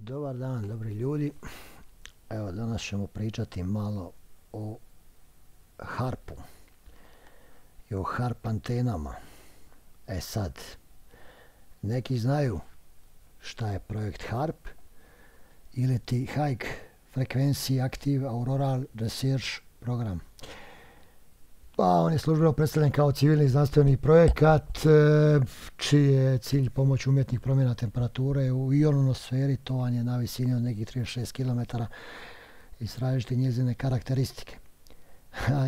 Dobar dan, dobri ljudi. Evo, danas ćemo pričati malo o harpu i o harp antenama. Sad, neki znaju šta je projekt HARP ili ti High Frequency Active Auroral Research Program. Pa on je službeno predstavljen kao civilni znanstveni projekat čiji je cilj pomoć umjetnih promjena temperature u ionosferi, to vam je na visini od nekih 36 km, istražiti njezine karakteristike.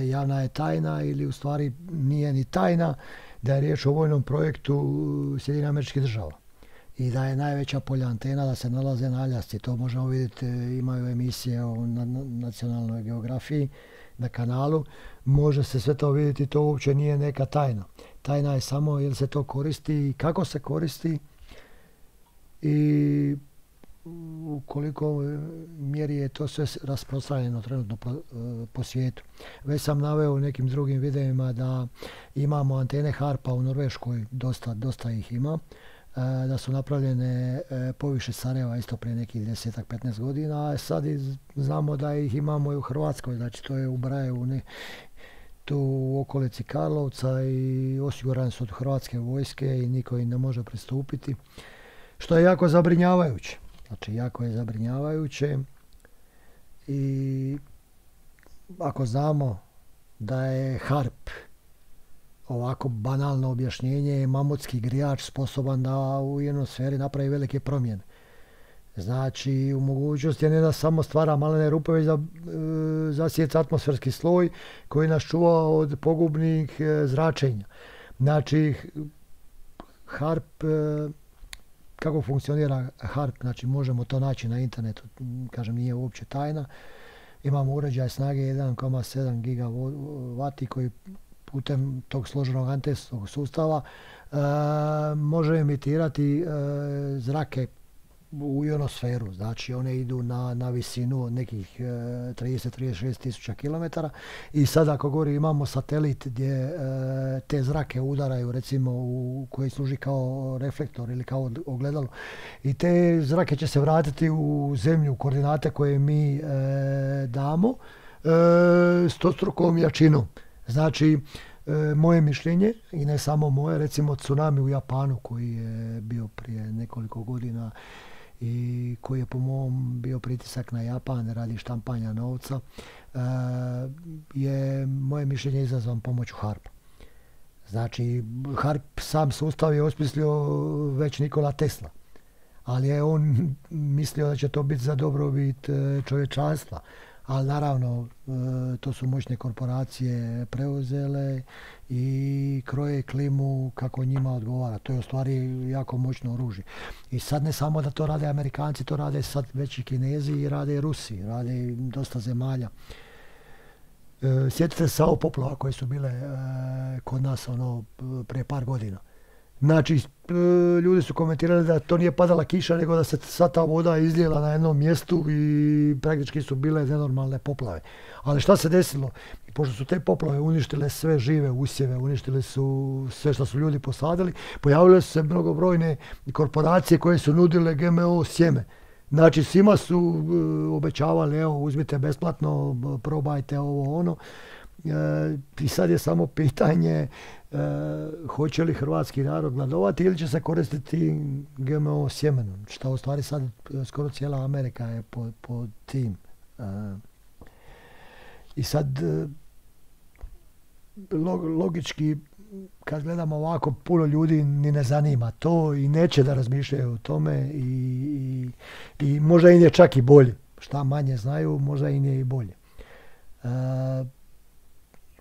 Javna je tajna, ili u stvari nije ni tajna, da je riječ o vojnom projektu Sjedinjenih Američkih Država i da je najveća polja antena da se nalaze na Aljasci. To možemo vidjeti, imaju emisije o nacionalnoj geografiji na kanalu, može se sve to vidjeti, to uopće nije neka tajna. Tajna je samo jel se to koristi i kako se koristi i u koliko mjeri je to sve rasprostranjeno trenutno po svijetu. Već sam naveo u nekim drugim videima da imamo antene HARP-a u Norveškoj, dosta ih ima, da su napravljene poviše Sarajeva isto prije nekih 10-15 godina, a sad znamo da ih imamo i u Hrvatskoj, znači to je u Brajevu, tu u okolici Karlovca, i osigurani su od Hrvatske vojske i niko im ne može pristupiti, što je jako zabrinjavajuće. Znači, jako je zabrinjavajuće i ako znamo da je HARP, ovako banalno objašnjenje, mamutski grijač sposoban da u ionosferi napravi velike promjene. Znači, u mogućnosti je ne da samo stvara malene rupe, već da zasjeca atmosferski sloj koji nas čuva od pogubnih zračenja. Znači, HARP, kako funkcionira HARP, znači možemo to naći na internetu, kažem, nije uopće tajna. Imamo uređaj snage 1,7 gigavati koji putem tog složenog antenskog sustava može emitirati zrake u ionosferu. Znači one idu na visinu od nekih 30-36 tisuća kilometara i sad ako gori imamo satelit gdje te zrake udaraju, recimo koji služi kao reflektor ili kao ogledalo, i te zrake će se vratiti u zemlju, u koordinate koje mi damo, stostrukom jačinom. Znači, moje mišljenje, i ne samo moje, recimo tsunami u Japanu koji je bio prije nekoliko godina i koji je po mom bio pritisak na Japan radi štampanja novca, je moje mišljenje izazvan pomoću HARP-a. Znači, HARP sam sustav je osmislio već Nikola Tesla, ali je on mislio da će to biti za dobrobit čovječanstva. Ali naravno, to su moćne korporacije preuzele i kroje klimu kako njima odgovara. To je u stvari jako moćno oružje. I sad ne samo da to rade Amerikanci, to rade sad već i Kinezi i rade i Rusi, rade i dosta zemalja. Sjetite se ovo poplava koje su bile kod nas prije par godina. Znači, ljudi su komentirali da to nije padala kiša, nego da se sva ta voda izlijela na jednom mjestu i praktički su bile nenormalne poplave. Ali šta se desilo? Pošto su te poplave uništile sve žive usjeve, uništile su sve što su ljudi posadili, pojavile su se mnogobrojne korporacije koje su nudile GMO sjeme. Znači, svima su obećavali, evo, uzmite besplatno, probajte ovo, ono. I sad je samo pitanje hoće li hrvatski narod gladovati ili će se koristiti GMO sjemenom, što u stvari sad skoro cijela Amerika je po tim. I sad logički kad gledamo ovako, puno ljudi ni ne zanima to i neće da razmišljaju o tome i možda im je čak i bolje. Šta manje znaju, možda im je i bolje.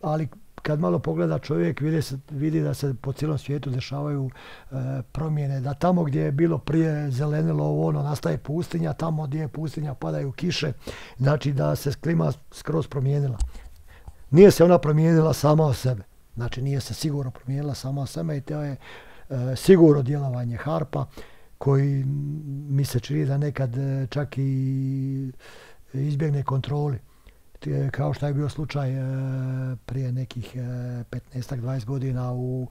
Ali kad malo pogleda čovjek, vidi da se po cijelom svijetu dešavaju promjene, da tamo gdje je bilo prije zelenilo nastaje pustinja, tamo gdje je pustinja padaju kiše, znači da se klima skroz promijenila. Nije se ona promijenila sama od sebe, znači nije se sigurno promijenila sama od sebe i to je sigurno djelovanje HARP-a koji mi se čini da nekad čak i izbjegne kontroli. Kao što je bio slučaj prije nekih 15-20 godina u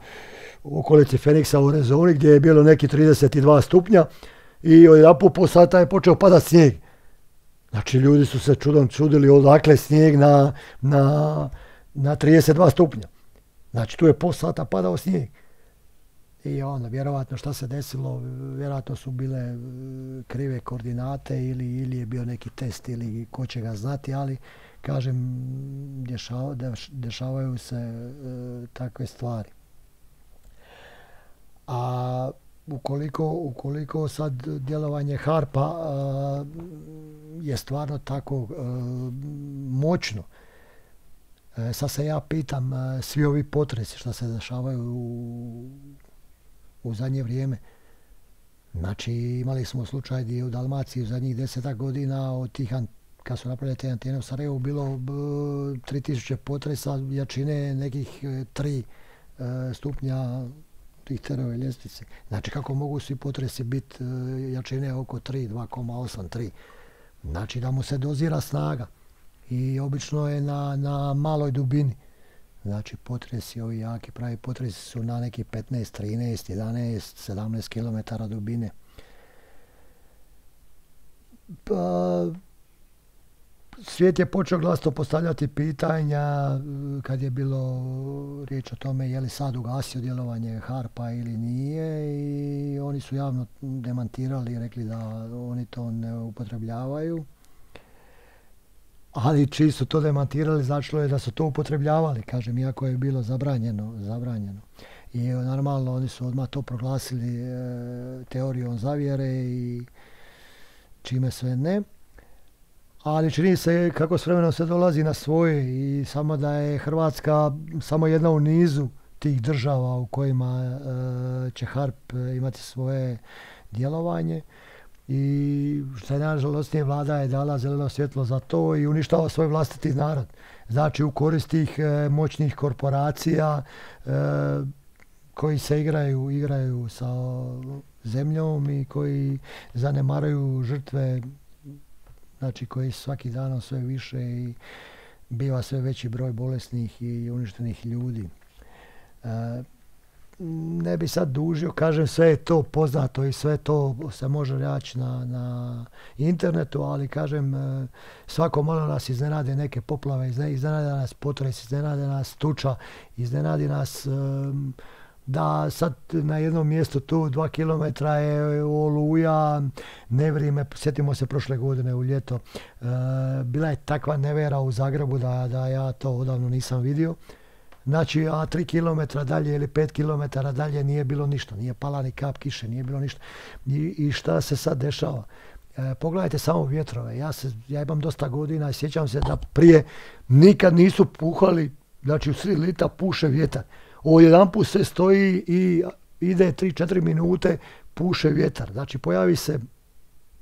okolici Feniksa u Arizoni, gdje je bilo neki 32 stupnja i odjedanput po sata je počeo padat snijeg. Znači ljudi su se čudom čudili odakle snijeg na 32 stupnja. Znači tu je po sata padao snijeg. I onda vjerovatno šta se desilo, vjerojatno su bile krive koordinate ili je bio neki test ili ko će ga znati, ali kažem dešavaju se takve stvari. A ukoliko sad djelovanje HARP-a je stvarno tako moćno, sad se ja pitam, svi ovi potresi što se dešavaju u zadnje vrijeme. Znači imali smo slučaj gdje u Dalmaciji u zadnjih 10 godina od tih, kad su napravili te antene u Sarajevu, bilo 3000 potresa jačine nekih 3 stupnja Richterove ljestvice. Znači kako mogu svi potresi biti jačine oko 3, 2,8, 3. Znači da mu se dozira snaga i obično je na maloj dubini. Znači potresi, ovi jaki pravi potresi su na neki 15, 13, 11, 17 km dubine. Pa, svijet je počeo glasno postavljati pitanja kad je bilo riječ o tome je li sad ugasio djelovanje HARP-a ili nije, i oni su javno demantirali i rekli da oni to ne upotrebljavaju. Ali čiji su to demantirali, značilo je da su to upotrebljavali, kažem, iako je bilo zabranjeno. I normalno oni su odmah to proglasili teorijom zavjere i čime sve ne. Ali čini se kako s vremenom se dolazi na svoje i samo da je Hrvatska samo jedna u nizu tih država u kojima će HARP imati svoje djelovanje. I što je najžalosnije, vlada je dala zeleno svjetlo za to i uništava svoj vlastiti narod. Znači u korist tih moćnih korporacija koji se igraju sa zemljom i koji zanemaruju žrtve, znači koji svaki dan sve više i biva sve veći broj bolesnih i uništenih ljudi. Ne bi sad dužio, kažem, sve je to poznato i sve to se može naći na internetu, ali kažem, svako malo nas iznenade neke poplave, iznenade nas potres, iznenade nas tuča, iznenadi nas da sad na jednom mjestu tu 2 km je oluja, nevrijeme, sjetimo se prošle godine u ljeto, bila je takva nevera u Zagrebu da ja to odavno nisam vidio. Znači, a 3 km dalje ili 5 km dalje nije bilo ništa, nije pala ni kap kiše, nije bilo ništa. I šta se sad dešava? Pogledajte samo vjetrove. Ja imam dosta godina i sjećam se da prije nikad nisu puhali, znači u sred lita puše vjetar. Odjedanput se stoji i ide 3-4 minute, puše vjetar. Znači, pojavi se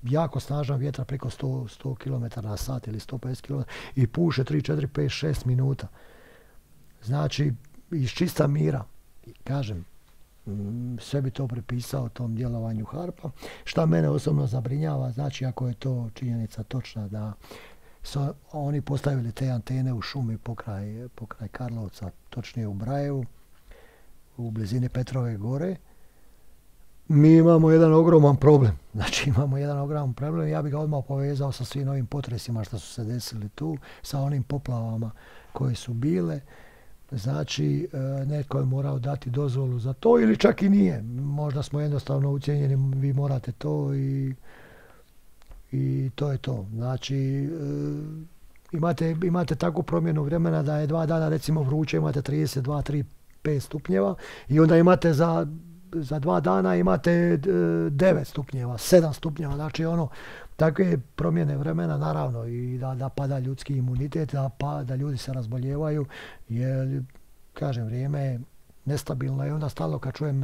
jako snažan vjetar preko 100 km na sat ili 150 km i puše 3, 4, 5, 6 minuta. Znači, iz čista mira, kažem, sve bi to pripisao tom djelovanju HARP-a. Šta mene osobno zabrinjava, znači ako je to činjenica točna da su oni postavili te antene u šumi pokraj Karlovca, točnije u Brajevu, u blizini Petrove gore, mi imamo jedan ogroman problem. Znači imamo jedan ogroman problem, ja bih ga odmah povezao sa svim ovim potresima što su se desili tu, sa onim poplavama koje su bile. Znači, netko je morao dati dozvolu za to ili čak i nije. Možda smo jednostavno ucijenjeni, vi morate to i to je to. Znači, imate takvu promjenu vremena da je 2 dana recimo vruće, imate 32, 3, 5 stupnjeva i onda imate za 2 dana imate 9 stupnjeva, 7 stupnjeva. Znači, takve promjene vremena, naravno, i da pada ljudski imunitet, da ljudi se razboljevaju, jer, kažem, vrijeme je nestabilno i onda stalno kad čujem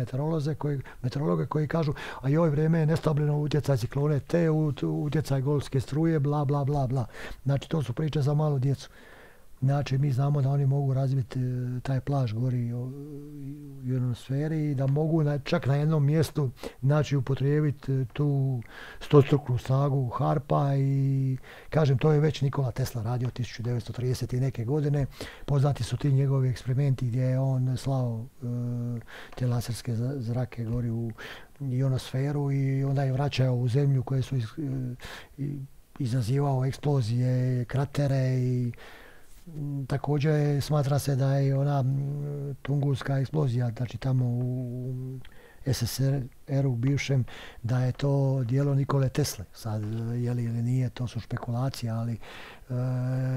meteorologe koji kažu a joj, vrijeme je nestabilno, utjecaj ciklone te, utjecaj golfske struje, bla, bla, bla, bla. Znači, to su priče za malu djecu. Znači, mi znamo da oni mogu razviti taj plaž gori u ionosferi i da mogu čak na jednom mjestu upotrijebiti tu stostruknu snagu HARP-a i, kažem, to je već Nikola Tesla radio 1930. i neke godine. Poznati su ti njegovi eksperimenti gdje je on slao te laserske zrake gori ionosferu i onda je vraćao u zemlju koje su izazivao eksplozije, kratere i također smatra se da je ona Tungurska eksplozija, znači tamo u SSSR-u bivšem, da je to djelo Nikole Tesle. Sad, je li ili nije, to su špekulacije, ali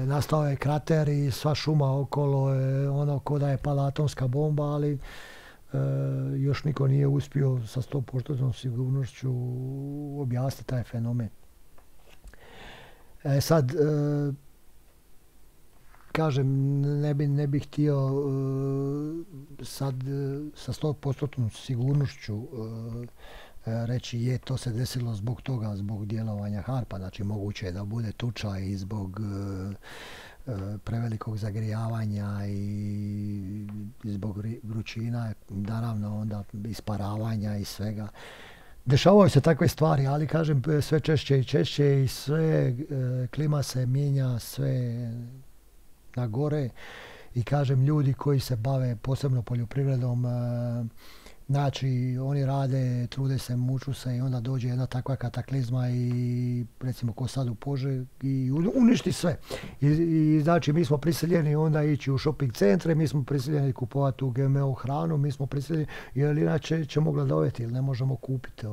nastao je krater i sva šuma okolo je ono ko da je pala atomska bomba, ali još niko nije uspio sa 100% sigurnošću objasniti taj fenomen. Sad, kažem, ne bih htio sad sa 100% sigurnošću reći je to se desilo zbog toga, zbog djelovanja HARP-a, znači moguće je da bude tuča i zbog prevelikog zagrijavanja i zbog vrućina, naravno onda isparavanja i svega. Dešavaju se takve stvari, ali kažem sve češće i češće i sve klima se mijenja sve na gore i kažem ljudi koji se bave posebno poljoprivredom, znači oni rade, trude se, muču se i onda dođe jedna takva kataklizma i recimo ko sad u Požegi i uništi sve. I znači mi smo prisiljeni onda ići u shopping centre, mi smo prisiljeni kupovati tu GMO hranu, mi smo prisiljeni jer inače ćemo gladoviti ili ne možemo kupiti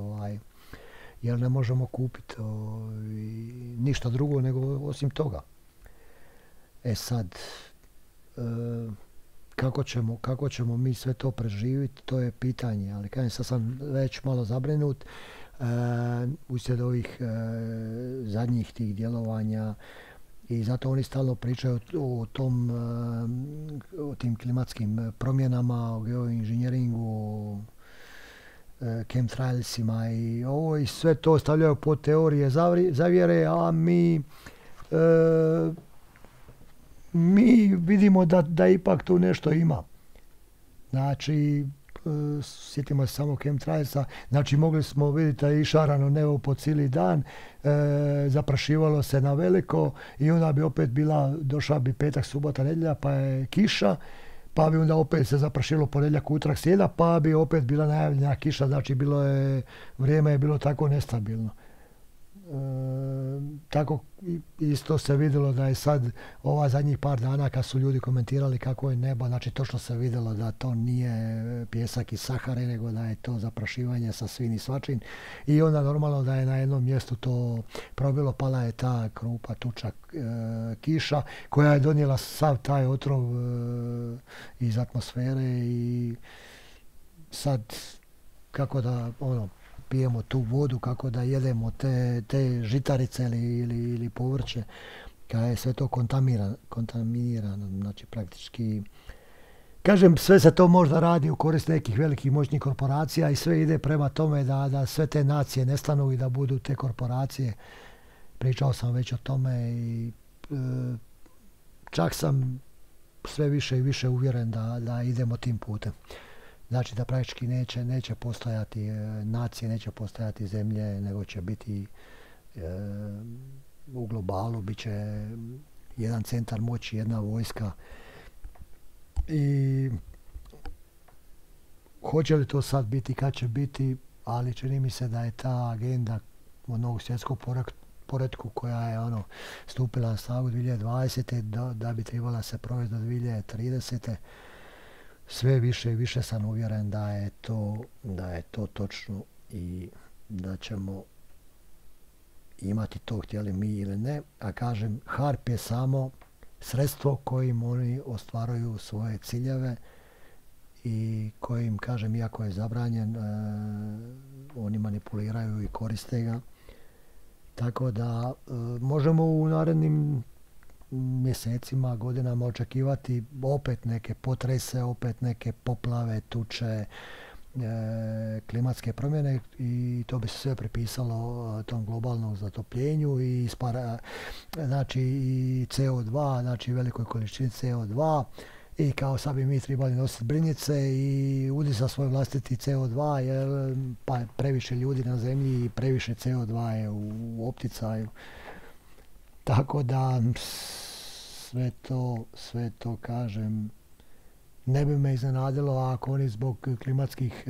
jer ne možemo kupiti ništa drugo nego osim toga. Sad, kako ćemo mi sve to preživjeti, to je pitanje, ali kažem, sad sam već malo zabrinut uslijed ovih zadnjih tih djelovanja i zato oni stalno pričaju o tim klimatskim promjenama, o geoinženjeringu, o chemtrailsima i ovo i sve to stavljaju pod teorije zavjere, a mi vidimo da ipak tu nešto ima. Znači, sjetimo se samo chemtrailsa, znači mogli smo vidjeti da je išarano nebo po cijeli dan, zaprašivalo se na veliko i onda bi opet došla bi petak, subota, nedjelja, pa je kiša, pa bi onda opet se zaprašilo ponedjeljak, utorak, srijeda, pa bi opet bila najavljena kiša, znači vrijeme je bilo tako nestabilno. Tako isto se vidjelo da je sad ova zadnjih par dana kad su ljudi komentirali kako je nebo, znači točno se vidjelo da to nije pjesak iz Sahare, nego da je to zaprašivanje sa svim i svačim i onda normalno da je na jednom mjestu to probilo, pala je ta krupa, tuča, kiša koja je donijela sav taj otrov iz atmosfere i sad kako da pijemo tu vodu, kako da jedemo te žitarice ili povrće, kada je sve to kontaminirano, znači praktički, kažem, sve se to možda radi u korist nekih velikih moćnih korporacija i sve ide prema tome da sve te nacije nestanu i da budu te korporacije. Pričao sam već o tome i čak sam sve više i više uvjeren da idemo tim putem. Znači da praktički neće postojati nacije, neće postojati zemlje, nego će biti u globalu, bit će jedan centar moći, jedna vojska. I hoće li to sad biti, kad će biti, ali čini mi se da je ta agenda onog svjetskog poretku koja je stupila na snagu 2020. da bi trebala se provesti do 2030. Sve više i više sam uvjeren da je to točno i da ćemo imati to, htjeli mi ili ne. A kažem, HARP je samo sredstvo kojim oni ostvaruju svoje ciljeve i kojim, kažem, iako je zabranjen, oni manipuliraju i koriste ga. Tako da možemo u narednim mjesecima, godinama očekivati opet neke potrese, opet neke poplave, tuče, klimatske promjene i to bi se sve pripisalo tom globalnom zatopljenju i znači i CO2, znači velikoj količini CO2 i kao sad bi mi trebali nositi brinjice i udisati svoj vlastiti CO2 jer pa previše ljudi na zemlji i previše CO2 je u opticaju. Tako da sve to kažem Ne bi me iznenadilo ako oni zbog klimatskih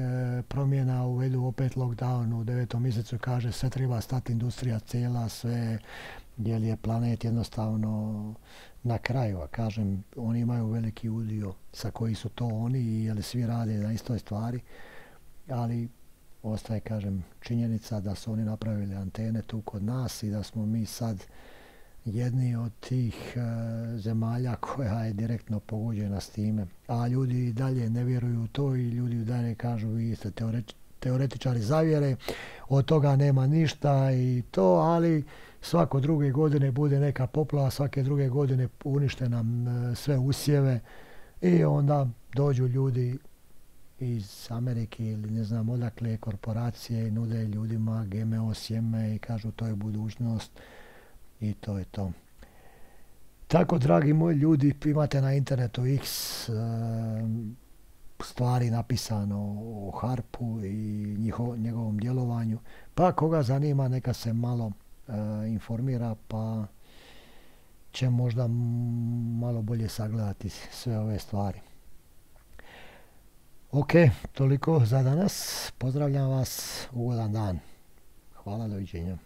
promjena uvedu opet lockdown u 9. mjesecu, kaže sve treba stati, industrija cijela, sve, jer je planet jednostavno na kraju. A kažem, oni imaju veliki udio sa koji su to oni, jer svi rade na istoj stvari, ali ostaje, kažem, činjenica da su oni napravili antene tu kod nas i da smo mi sad jedni od tih zemalja koja je direktno pogođena s time. A ljudi i dalje ne vjeruju u to i ljudi i dalje kažu vi ste teoretičari zavjere, od toga nema ništa i to, ali svako druge godine bude neka poplava, svake druge godine unište nam sve usjeve i onda dođu ljudi iz Amerike ili ne znam odakle korporacije i nude ljudima GMO sjeme i kažu to je budućnost. I to je to. Tako, dragi moji ljudi, imate na internetu x stvari napisano o Harpu i njegovom djelovanju. Pa koga zanima, neka se malo informira, pa će možda malo bolje sagledati sve ove stvari. Ok, toliko za danas. Pozdravljam vas, ugodan dan. Hvala, doviđenja.